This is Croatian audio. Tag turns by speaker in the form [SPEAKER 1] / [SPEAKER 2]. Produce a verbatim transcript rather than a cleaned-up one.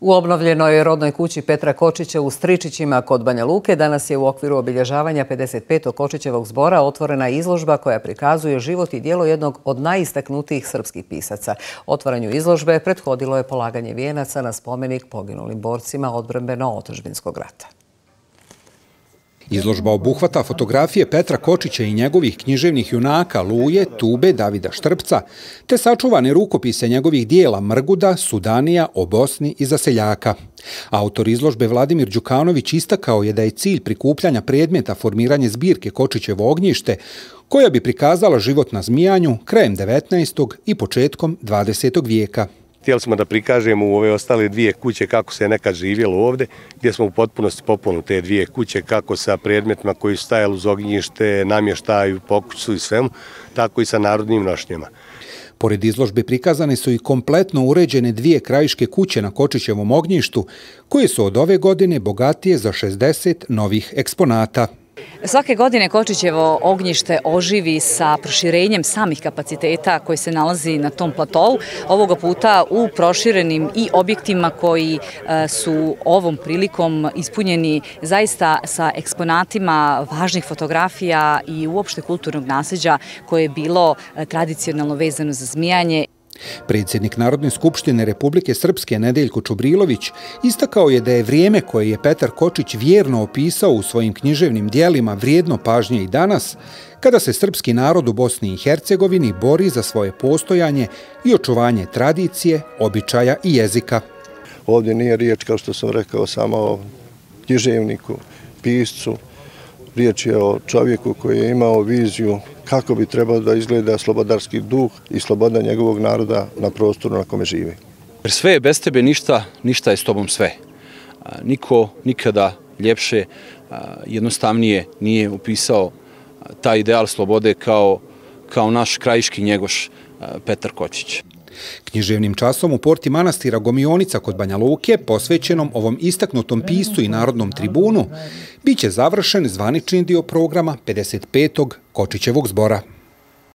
[SPEAKER 1] U obnovljenoj rodnoj kući Petra Kočića u Stričićima kod Banja Luke danas je u okviru obilježavanja pedeset petog Kočićevog zbora otvorena izložba koja prikazuje život i djelo jednog od najistaknutijih srpskih pisaca. Otvaranju izložbe prethodilo je polaganje vijenaca na spomenik poginulim borcima odbrambeno-otadžbinskog rata.
[SPEAKER 2] Izložba obuhvata fotografije Petra Kočića i njegovih književnih junaka Luje, Tube, Davida Štrpca, te sačuvane rukopise njegovih dijela Mrguda, Sudanija, o Bosni i za seljaka. Autor izložbe Vladimir Đukanović istakao je da je cilj prikupljanja predmeta formiranje zbirke Kočićevo ognjište, koja bi prikazala život na Zmijanju krajem devetnaestog i početkom dvadesetog vijeka.
[SPEAKER 3] Htjeli smo da prikažemo u ove ostale dvije kuće kako se nekad živjelo ovdje, gdje smo u potpunosti popunili te dvije kuće, kako sa predmetima koji su stajali uz ognjište, namještaju, pokuću i svemu, tako i sa narodnim nošnjama.
[SPEAKER 2] Pored izložbe prikazane su i kompletno uređene dvije krajiške kuće na Kočićevom ognjištu, koje su od ove godine bogatije za šezdeset novih eksponata.
[SPEAKER 4] Svake godine Kočićevo ognjište oživi sa proširenjem samih kapaciteta koji se nalazi na tom platovu, ovoga puta u proširenim i objektima koji su ovom prilikom ispunjeni zaista sa eksponatima važnih fotografija i uopšte kulturnog nasljeđa koje je bilo tradicionalno vezano za Zmijanje.
[SPEAKER 2] Predsjednik Narodne skupštine Republike Srpske Nedeljko Čubrilović istakao je da je vrijeme koje je Petar Kočić vjerno opisao u svojim književnim dijelima vrijedno pažnje i danas, kada se srpski narod u Bosni i Hercegovini bori za svoje postojanje i očuvanje tradicije, običaja i jezika.
[SPEAKER 5] Ovdje nije riječ, kao što sam rekao, samo o književniku, piscu. Riječ je o čovjeku koji je imao viziju kako bi trebao da izgleda slobodarski duh i sloboda njegovog naroda na prostoru na kome živi.
[SPEAKER 6] Jer sve je bez tebe ništa, ništa je s tobom sve. Niko nikada ljepše, jednostavnije nije upisao taj ideal slobode kao, kao naš krajiški njegoš Petar Kočić.
[SPEAKER 2] Književnim časom u porti manastira Gomionica kod Banja Luke, posvećenom ovom istaknutom piscu i narodnom tribunu, biće završen zvanični dio programa pedeset petog Kočićevog zbora.